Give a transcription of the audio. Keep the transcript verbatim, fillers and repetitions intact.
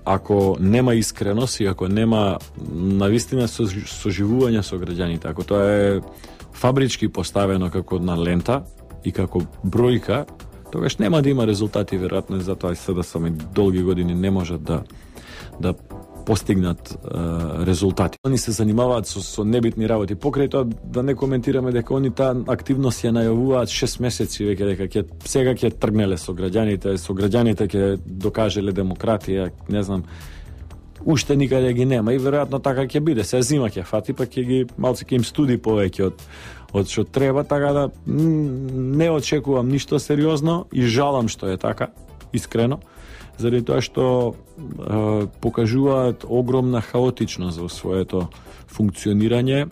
ако нема искреност и ако нема навистина соживување со граѓаните, ако тоа е фабрички поставено како на лента и како бројка, тогаш нема да има резултати, веројатно затоа и СДСМ долги години не можат да да постигнат е, резултати. Они се занимаваат со, со небитни работи. Покрај тоа да не коментираме дека они таа активност ја најавуваат шест месеци веќе дека ќе сега ќе тргнеле со граѓаните, со граѓаните ќе докажеле демократија, не знам. Уште никаде ги нема и веројатно така ќе биде. Се зима ќе фати, па ќе ги малце ќе им студи повеќе од од што треба, така да не очекувам ништо сериозно и жалам што е така, искрено, заради тоа што е, покажуваат огромна хаотичност во своето функционирање.